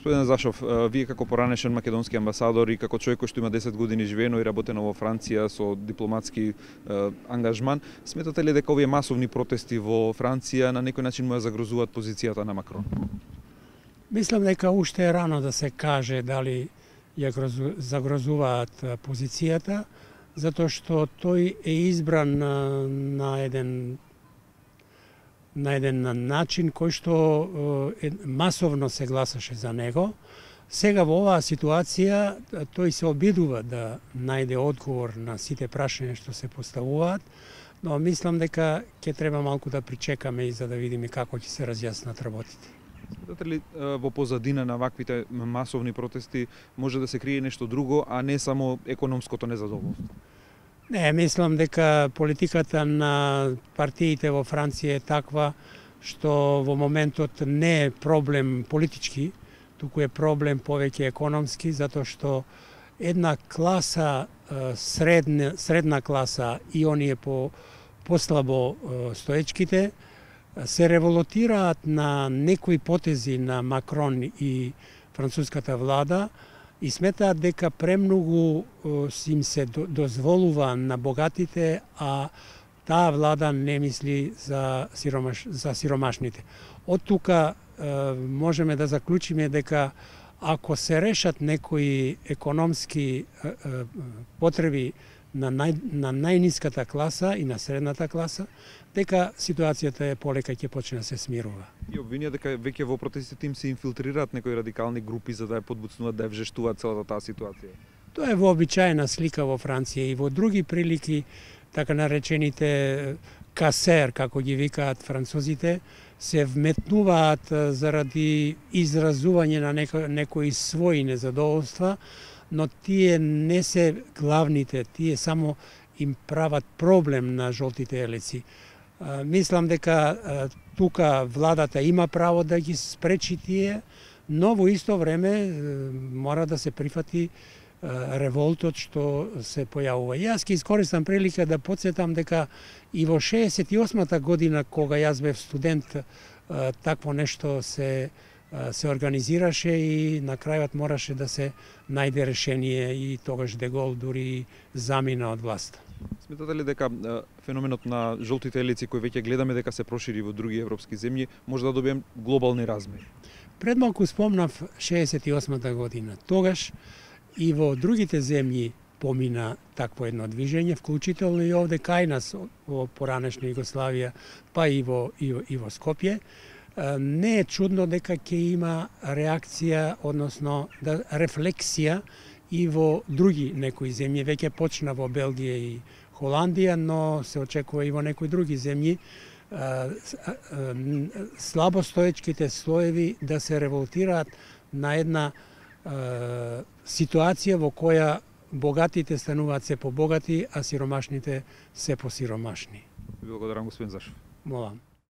Господин Зашов, вие како поранешен македонски амбасадор и како човек кој што има 10 години живеено и работено во Франција со дипломатски ангажман, сметате ли дека овие масовни протести во Франција на некој начин му ја загрозуваат позицијата на Макрон? Мислам дека уште е рано да се каже дали ја загрозуваат позицијата, затоа што тој е избран на еден начин кој што масовно се гласаше за него. Сега во оваа ситуација тој се обидува да најде одговор на сите прашања што се поставуваат, но мислам дека ќе треба малку да причекаме и за да видиме како ќе се разјаснат работите. Сметате ли во позадина на ваквите масовни протести може да се крие нешто друго, а не само економското незадоволство? Не, мислам дека политиката на партиите во Франција е таква што во моментот не е проблем политички, туку е проблем повеќе економски, затоа што една класа, средна класа и оние послабо стоечките, се револутираат на некои потези на Макрон и француската влада и сметаат дека премногу им се дозволува на богатите, а таа влада не мисли за сиромашните. Од тука можеме да заклучиме дека ако се решат некои економски потреби на најниската класа и на средната класа, дека ситуацијата е полека ќе почне да се смирува. И обвинија дека веќе во протестите им се инфилтрираат некои радикални групи за да ја подбуцнуваат, да ја вжештуваат целата таа ситуација. Тоа е вообичаена слика во Франција и во други прилики, така наречените касер, како ги викаат французите, се вметнуваат заради изразување на некои своји незадоволства, но тие не се главните, тие само им прават проблем на жолтите елици. Мислам дека тука владата има право да ги спречи тие, но во исто време мора да се прифати револтот што се појавува. Јас ќе искористам прилика да потсетам дека и во 68-та година, кога јас бев студент, такво нешто се организираше и на крајот мораше да се најде решение и тогаш Де Гол дури замина од власта. Сметате ли дека феноменот на жолтите елици кој веќе гледаме дека се прошири во други европски земји може да добием глобални размери? Пред малку спомнав 68-та година. Тогаш и во другите земји помина такво едно движење, вклучително и овде кај нас во поранешна Југославија, па и во Скопје. Не е чудно дека ќе има реакција, односно рефлексија и во други некои земји. Веќе почна во Белгија и Холандија, но се очекува и во некои други земји слабостоечките слоеви да се револтираат на една ситуација во која богатите стануваат се побогати, а сиромашните се посиромашни. Благодарам, господин Зашов. Молам.